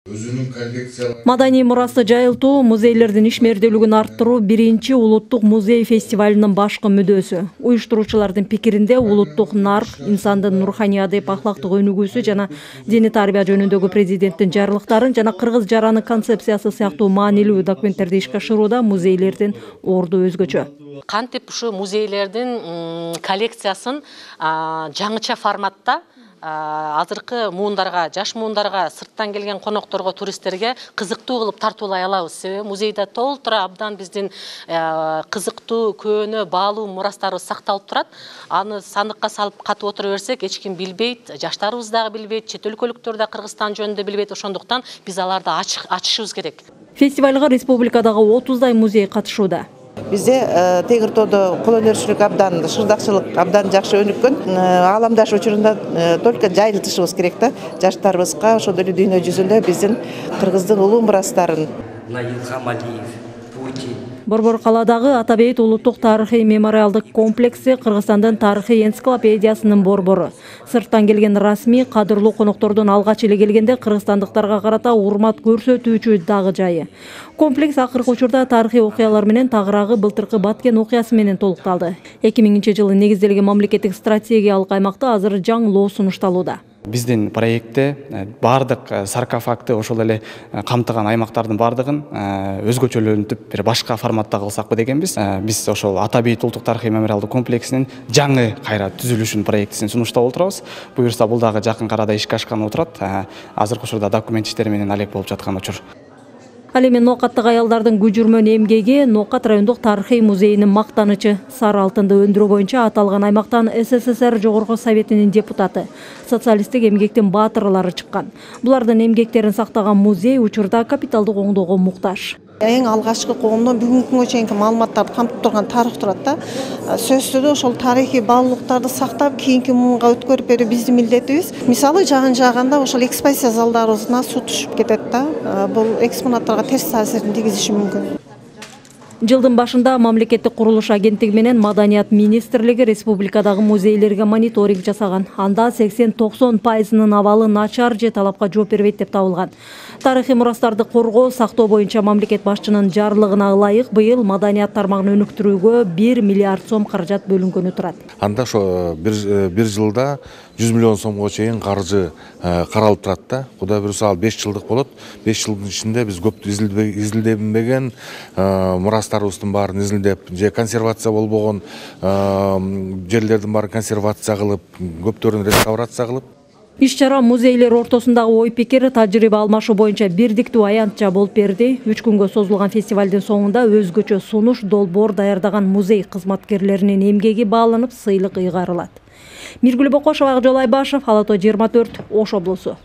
Өзүнүн коллекциялары. Маданий мурасты жайылтуу, музейлердин ишмердүүлүгүн арттыруу биринчи улуттук музей фестивалынын башкы мүдөөсү. Уюштуруучулардын пикиринде улуттук нарк, инсандын руханий адеп ахлактык өнүгүүсү жана диний тарбия жөнүндөгү президенттин жарлыктарын жана кыргыз жараны концепциясы сыяктуу маанилүү документтерди ишке ашырууда музейлердин орду өзгөчө. Кантип ушу музейлердин коллекциясын жаңыча форматта азыркы муундарга, жаш муундарга, сырттан келген конокторго, туристтерге кызыктуу кылып тартуулай алабыз. Себеби музейде толтура абдан биздин кызыктуу, көөнө, баалуу мурастарыбыз сакталып турат. Аны сандыкка салып катып отура берсек, эч ким билбейт, жаштарыбыз дагы билбейт, чет өлкөлүктөр да Кыргызстан жөнүндө билбейт. Ошондуктан биз аларды ачышыбыз керек. Фестивалга республикадагы 30дай музей катышууда. Бизде Тегиртоодо кол өнөрчүлүк абдан, шырдакчылык абдан жакшы өнүккөн. Ааламдаш учурунда только жайылтышыбыз керек да. Жаштарыбызга ошондой эле дүйнө жүзүндө биздин кыргыздын улуу мурастарын. Борбор калаадагы Атабейт улуттук тарыхый мемориалдык комплекси Кыргызстандын тарыхый энциклопедиясынын борбору. Сырттан келген расмий, кадырлуу коноктордун алгач эле келгенде кыргызстандыктарга карата урмат көрсөтүүчү дагы жайы. Комплекс акыркы учурда тарыхый окуялар менен тагыраагы былтыркы Баткен окуясы менен толукталды. 2000-жылы негизделген мамлекеттик стратегиялык аймакта азыр жаңылоо сунушталууда. Биздин проектте бардык саркофагты ошол эле камтыган аймактардын бардыгын өзгөчөлөнтүп бир башка форматта кылсакпы дегенбиз. Биз ошол Атабейт улуттук тарыхый мемориалдык комплексинин жаңы кайра түзүлүшүн проектисин сунуштап отурабыз. Буюрса бул дагы жакын арада ишке ашканы турат. Азыркы учурда документ иштери менен алек болуп жаткан учур. Ал эми Ноокаттык аялдардын күжүрмөн эмгеги Ноокат райондук тарыхый музейинин мактанычы. Сары алтынды өндүрүү боюнча аталган аймактан СССР Жогорку Советинин депутаты, социалисттик эмгектин баатырлары чыккан. Булардын эмгектерин сактаган музей учурда капиталдык оңдоого муктаж. Эң алгачкы коомдон бүгүнкү күнгө чейинки маалыматтарды камтып турган тарых турат да. Сөзсүз түрдө ошол тарыхый баалуулуктарды сактап, кийинки муунга өткөрүп берүү биздин милдетибиз. Мисалы жагын жааганда ошол экспозиция залдарыбызына суу түшүп кетет да. Бул экспонаттарга терс таасирин тийгизиши мүмкүн. Жылдын башында мамлекеттик курулуш агенттиги менен Маданият министрлиги республикадагы музейлерге мониторинг жасаган. Анда 80-90% абалы начар же талапка жооп бербейт деп табылган. Тарыхый мурастарды коргоо, сактоо боюнча мамлекет башчынын жарлыгына ылайык быйыл маданият тармагын өнүктүрүүгө 1 миллиард сом каражат бөлүнгөнү турат. Анда ошо бир жылда 100 миллион сомго чейин каржы каралып турат да. Кудай буюрса ал 5 жылдык болот. 5 жылдын ичинде биз көп изилдебеген мурастарыбыздын баарын изилдеп, же консервация болбогон жерлердин баарын консервация кылып, көптөрүн реставрация кылып. Иш-чара музейлер ортосундагы ой-пикир, тажрыйба алмашуу боюнча бирдиктүү аянтча болуп берди. 3 күнгө созулган фестивалдын соңунда өзгөчө сунуш, долбоор даярдаган музей кызматкерлеринин эмгеги бааланып, сыйлык ыйгарылат. Миргүл Бокошова, Акжол Айбашев, Ала Тоо 24, Ош облусу.